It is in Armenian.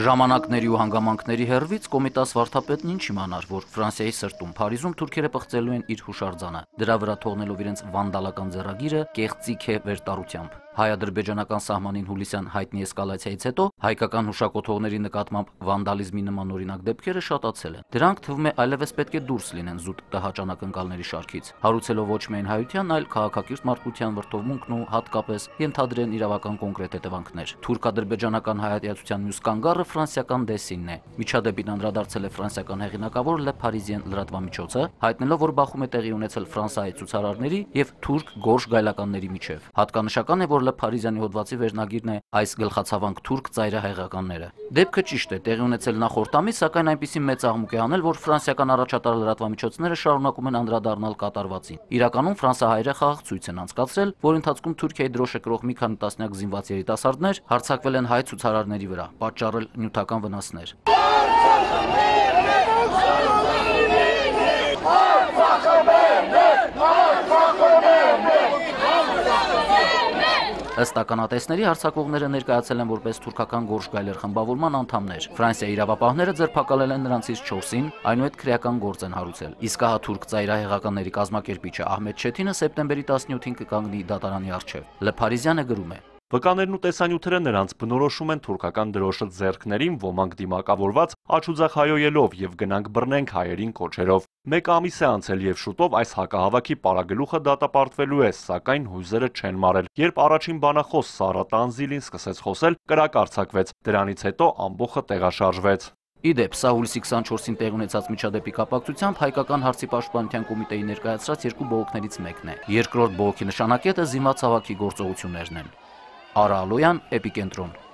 Ժամանակների ու հանգամանքների հեռվից Կոմիտաս վարդապետն ինչ իմանար, որ Ֆրանսիայի սրտում Փարիզում թուրքերը պղծելու են իր հուշարձանը, դրա վրա թողնելով իրենց վանդալական ձեռագիրը կեղծիք է վերտարությամբ։ Հայ-ադրբեջանական սահմանին հուլիսյան հայտնի էսկալացիայից հետո հայկական հուշակոթողների նկատմամբ վանդալիզմի նման օրինակ դեպքերը շատացել են։ Դրանք թվում է այլևս պետք է դուրս լինեն զուտ տհաճ անակնկալների շարքից, հարուցելով ոչ միայն հայության, այլ քաղաքակիրթ մարդկության վրդովմունքն ու հատկապես ենթադրեն իրավական կոնկրետ հետևանքներ։ Թուրք-ադրբեջանական հայատյացության մյուս կանգառը ֆրանսիական դեսինն է։ Միջադեպին անդրադարձել է ֆրանսիական հեղինակավոր Le Parisien լրատվամիջոցը, հայտնելով, որ բախում է տեղի ունեցել Ֆրանսիայի ցուցարարների եւ թուրք գորշ գայլականների միջև։ Հատկանշական է, որ Le Parisien-ի հոդվածի վերնագիրն է այս գլխացավանք թուրք ծայրահեղականները։ Դեպքը ճիշտ է, տեղի ունեցել նախորդ ամիս, սակայն այնպիսի մեծ աղմուկ է անել, որ ֆրանսիական առաջատար լրատվամիջոցները շարունակում են անդրադառնալ կատարվածին։ Իրականում ֆրանսահայերը խաղաղցույց են անցկացրել, որի ընթացքում Թուրքիայի դրոշը կրող մի քանի տասնյակ զինված երիտասարդներ հարձակվել են հայ ցուցարարների վրա, պատճառել նյութական վնասներ։ Ըստ ականատեսների հարձակվողները ներկայացել են որպես թուրքական գորշ գայլեր խմբավորման անդամներ։ Ֆրանսիայի իրավապահները ձերբակալել են նրանցից 4-ին, այնուհետ քրեական գործ են հարուցել։ Իսկ հա թուրք ծայրահեղականների կազմակերպիչը Ահմեդ Չեթինը սեպտեմբերի 17-ին կկանգնի դատարանի առջև։ Le Parisien-ը գրում է. Վկաներն ու տեսանյութերը նրանց բնորոշում են թուրքական դրոշը ձեռքներին, ոմանք դիմակավորված աչուձախ հայոյելով եւ գնանք բռնենք հայերին կոչերով։ Մեկ ամիս է անցել եւ շուտով այս հակահավաքի պարագլուխը դատապարտվելու է, սակայն հույզերը չեն մարել։ Երբ առաջին բանախոս Սարա Տանզիլին սկսեց խոսել, կրակ արձակվեց, դրանից հետո ամբողջը տեղաշարժվեց։ Իդեպ, սա հուլիսի 24-ին տեղի ունեցած միջադեպի կապակցությամբ հայկական հարցի պաշտպանության կոմիտեի ներկայացրած երկու բողոքներից մեկն է։ Երկրորդ բողոքի նշանակետը զինված հավաքի գործողություններն են։ Արա Ալոյան, Էպիկենտրոն։